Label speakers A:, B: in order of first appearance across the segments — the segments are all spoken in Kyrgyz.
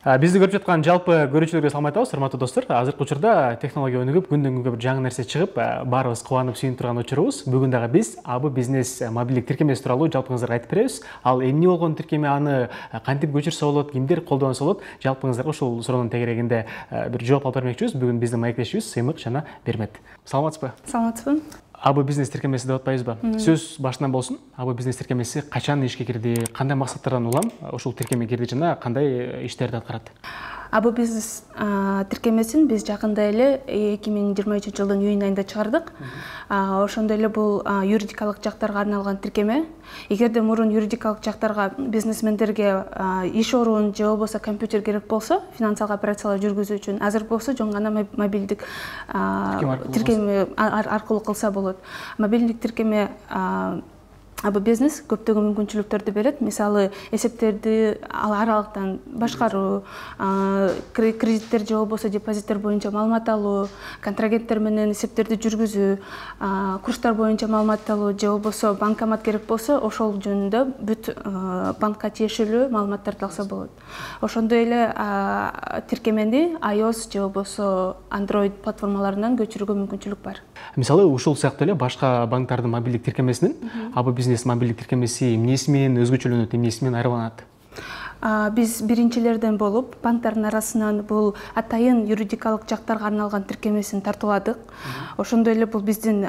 A: Бизди көрүп жаткан жалпы көрүүчүлөргө салам айтабыз, урматтуу достор. Азыркы учурда технология өнүгүп, күндөн күнгө бир жаңы нерсе чыгып, баарыбыз кубанып сүйүнүп турган учурубуз. Бүгүн дагы биз АБ бизнес мобилдик тиркемеси тууралуу жалпыңыздарга айтып беребиз. Ал эмне болгон тиркеме, аны кантип көчүрсө болот, кимдер колдонсо болот, жалпыңыздарга ушул суроонун тегерегинде бир жооп алып бермекчибиз. Бүгүн биздин маектешибиз Сыймык жана Бермет. Саламатсызбы?
B: Саламатсызбы.
A: АБ бизнес тиркемеси деп атпайбызбы? Сөз башынан болсун. АБ бизнес тиркемеси качан ишке кирди, кандай максаттардан улам ушул тиркеме кирди жана кандай иштерди аткарат?
B: АБ бизнес тиркемесин биз жакында эле 2023 жылдын июнь айында чыгардык. Ошондой эле бул юридикалык жактарга арналган тиркеме. Эгерде мурун юридикалык жактарга бизнесмендерге иш орун же болбосо компьютер керек болсо, финансылык операциялар жүргүзүү үчүн, азыр болсо жөн гана мобилдик тиркеме аркылуу кылса болот. Мобилдик тиркеме АБ бизнес көптөгөн мүмкүнчүлүктөрдү берет. Мисалы, эсептерди аралыктан башкаруу, кредиттер же болбосо депозиттер боюнча маалымат алуу, контрагенттер менен эсептерди жүргүзүү, курстар боюнча маалымат алуу же болбосо банкомат керек болсо, ошол жөнүндө бүт банкка тиешелүү маалыматтарды алса болот. Ошондой эле тиркемени iOS же болбосо Android платформаларынан көчүрүүгө мүмкүнчүлүк бар.
A: Мисалы, ушул сыяктуу эле башка банктардын мобилдик тиркемесинен АБ бизнес мобилдик тиркемеси эмнеси менен өзгөчөлөнөт, эмнеси менен айырмаланат?
B: Биз биринчилерден болуп, банктардын арасынан бул атайын юридикалык жактарга арналган тиркемесин тартууладык. Ошондой эле бул биздин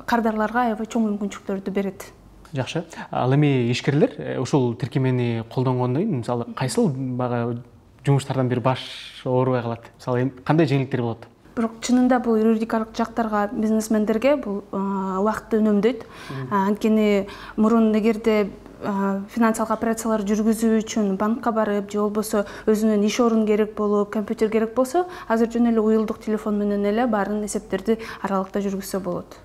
B: кардарларга аябай чоң мүмкүнчүлүктөрдү берет.
A: Жакшы. Ал эми ишкерлер ушул тиркемени колдонгондон кийин, мисалы, кайсыл багы жумуштардан бир баш оорубай калат? Мисалы, кандай жеңилдиктер болот?
B: Бирок чынында бул юридикалык жактарга, бизнесмендерге бул убакытты үнөмдөйт. Анткени мурун эгерде финансылык операциялар жүргүзүү үчүн банкка барып же болбосо өзүнүн иш орун керек болуп, компьютер керек болсо, азыр жөн эле уюлдук телефон менен эле баарын эсептерди аралыкта жүргүзсө болот.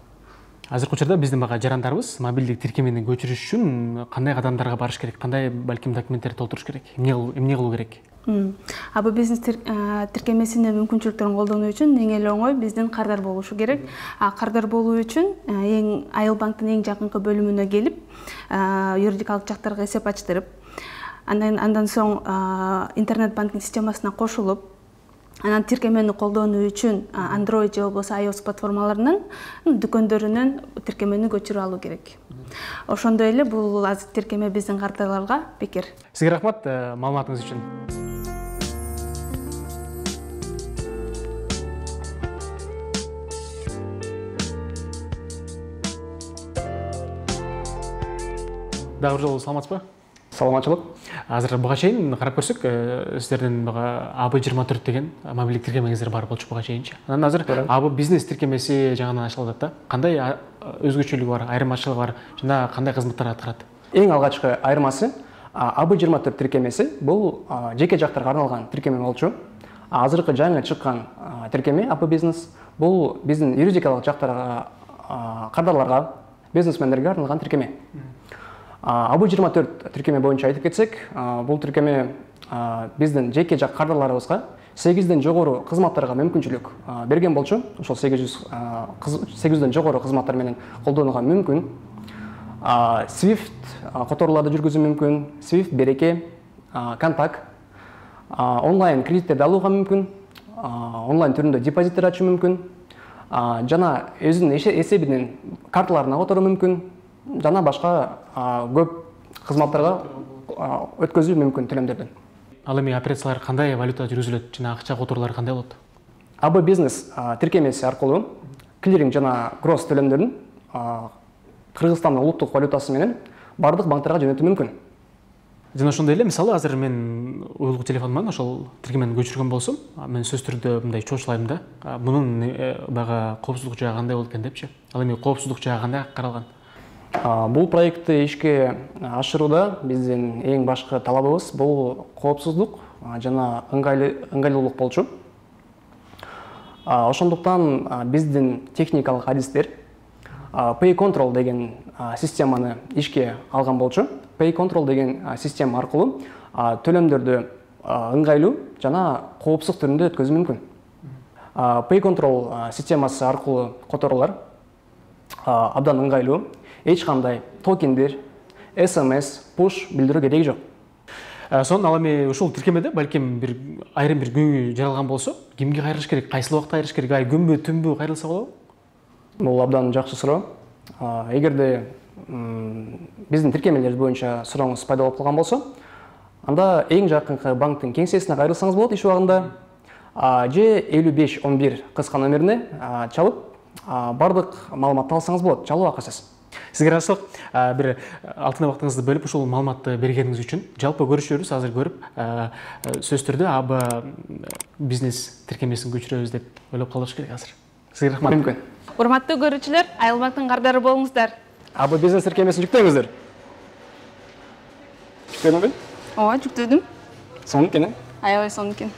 A: Азыркы учурда биздин бага жарандарыбыз мобилдик тиркемени көчүрүш үчүн кандай кадамдарга барыш керек, кандай балким документтерди толтуруш керек, эмне кылуу керек?
B: АБ бизнес тиркемесинин мүмкүнчүлүктөрүн колдонуу үчүн эң эле оңой биздин кардар болушу керек. Кардар болуу үчүн Айыл банктын эң жакынкы бөлүмүнө келип, юридикалык жактарга эсеп ачтырып, андан соң интернет банкинг системасына кошулуп, анан тиркемени колдонуу үчүн Android же болбосо iOS платформаларынын дүкөндөрүнөн тиркемени көчүрүп алуу керек. Ошондой эле бул азыр тиркеме биздин кардарларга бекер.
A: Сизге рахмат маалыматыңыз үчүн. Дагы жолу саламатсызбы?
C: Саламатчылык.
A: Азыр буга чейин карап көрсөк, сиздердин бага AB24 деген мобилдик тиркемеңиздер бар болчу буга чейинчи. Анан азыр АБ бизнес тиркемеси жаңадан ачылып атат да. Кандай өзгөчөлүгү бар, айырмачылыгы бар жана кандай кызматтар аткарат?
C: Эң алгачкы айырмасы AB24 тиркемеси бул жеке жактарга арналган тиркеме болчу. Азыркы жаңы чыккан тиркеме АБ бизнес бул биздин юридикалык жактарга, кардарларга, бизнесмендерге арналган тиркеме. AB24 тиркеме боюнча айтып кетсек, бул тиркеме биздин жеке жак кардарларыбызга 8ден жогору кызматтарга мүмкүнчүлүк берген болчу. Ошол 800ден жогору кызматтар менен колдонууга мүмкүн. Swift которууларды жүргүзүү мүмкүн, Swift береке, контакт, онлайн кредиттерди алууга мүмкүн, онлайн түрүндө депозиттер ачуу мүмкүн, жана өзүнүн эсебинин карталарына которуу мүмкүн, жана башка көп кызматтарга өткөзүү мүмкүн төлөмдөрдөн.
A: Ал эми операциялар кандай валюта жүргүзүлөт жана акча которуулары кандай болот?
C: АБ бизнес тиркемеси аркылуу клиринг жана гросс төлөмдөрүн Кыргызстандын улуттук валютасы менен бардык банктарга жөнөтүү мүмкүн.
A: Жана ошондой эле, мисалы, азыр мен уюлдук телефонуман ошол тиркемени көчүргөн болсом, мен сөз түрдө мындай чоочулайм да. Мунун бага коопсуздук жагы кандай болот экен депчи. Ал эми коопсуздук жагы кандай каралган?
C: Бул проектти ишке ашырууда биздин эң башкы талабыбыз бул коопсуздук жана ыңгайлуулук болчу. Ошондуктан биздин техникалык адистер Pay Control деген системаны ишке алган болчу. Pay Control деген система аркылуу төлөмдөрдү ыңгайлуу жана коопсуз түрүндө өткөзүү мүмкүн. Pay Control системасы аркылуу которуулар абдан ыңгайлуу. Эч кандай токендер, SMS, push билдирүү кереги жок.
A: Сонун ал эми ушул тиркемеде балким бир айрым бир көйгөй жаралган болсо, кимге кайрылыш керек, кайсыл убакта кайрылыш керек, күнбү түнбү кайрылса болобу?
C: Бул абдан жакшы суроо. Эгерде биздин тиркемелерибиз боюнча сурооңуз пайда болуп калган болсо, анда эң жакынкы банктын кеңсесине кайрылсаңыз болот иш убагында, же 5511 кыска номерине чалып, бардык маалыматты алсаңыз болот, чалуу акысыз.
A: Сизге ыраазычылык. Бир алтын убактыңызды бөлүп ушул маалыматты бергениңиз үчүн. Жалпы көрүшөбүз, азыр көрүп, сөзсүз түрдө АБ бизнес тиркемесин көчүрөбүз деп ойлоп калыш керек азыр. Сизге рахмат.
C: Мүмкүн.
B: Урматтуу көрүүчүлөр, айылбактын кардары болуңуздар.
C: АБ бизнес тиркемесин жүктөңүздөр. Жүктөдүңбү?
B: Ооба, жүктөдүм.
C: Сонун экен.
B: Аябай сонун экен.